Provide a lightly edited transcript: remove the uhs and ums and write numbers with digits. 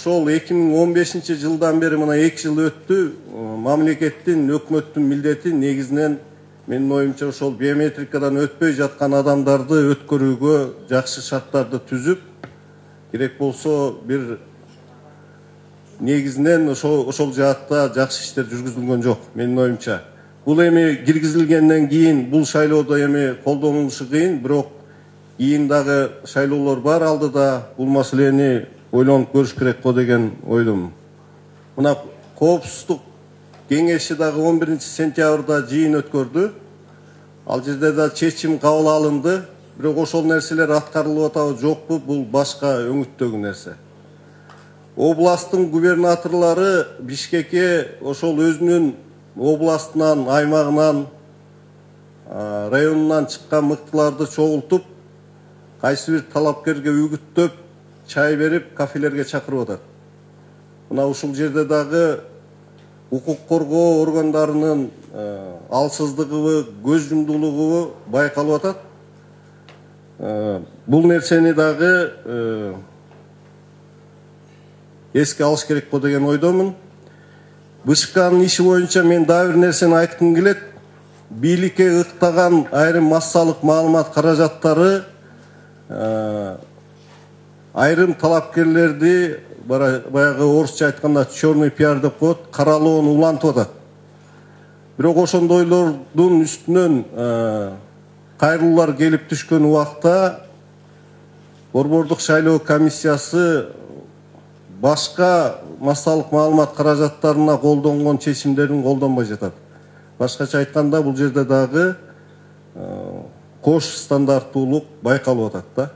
ошол 2015 жылдан бери мына 2 жыл өттү. Мамлекеттин, өкмөттүн милдети негизинен менин оюмча ошол биометрикадан өтпөй жаткан адамдарды өткөрүүгө жакшы шарттарды түзүп, керек болсо бир негизинен ошол жаатта жакшы иштер жүргүзүлгөн жок менин оюмча. Бул эми киргизилгенден кийин бул шайлоодо эми колдонулушу кыйын, бирок кийин дагы шайлоолор бар алдыда. Бул маселени ойлонуп көрүш керек го деген ойлойм. Мына Коопсуздук кеңеши дагы 11 сентябрда жыйын өткөрдү. Ал жерде да чечим кабыл алынды. Бирок ошол нерселер аткарылып атабы жокпу, бул башка өңүттөгү нерсе. Областтын губернаторлору Бишкекке ошол өзүнүн областынан, аймагынан, районунан чыккан мыктыларды чогултуп, кайсы бир талапкерге үгүттөп, чай берип, кафелерге чакырып атат. Мына ушул жерде дагы укук коргоо органдарынын алсыздыгыбы, көз жумдуулугубу байкалып атат. Бул нерсени дагы эске алыш керек го деген ойдомун. БШКнын иши боюнча мен дагы бир нерсени айткым келет. Бийликке ыктаган айрым массалык маалымат каражаттары айрым талапкерлерди баягы орусча айтканда черный пиар деп коет, каралоону улантып атат. Бирок ошондойлордун үстүнөн кайрылуулар келип түшкөн убакта Борбордук шайлоо комиссиясы башка массалык маалымат каражаттарына колдонгон чечимдерин колдонбой жатат. Башкача айтканда бул жерде дагы кош стандарттуулук байкалып атат да.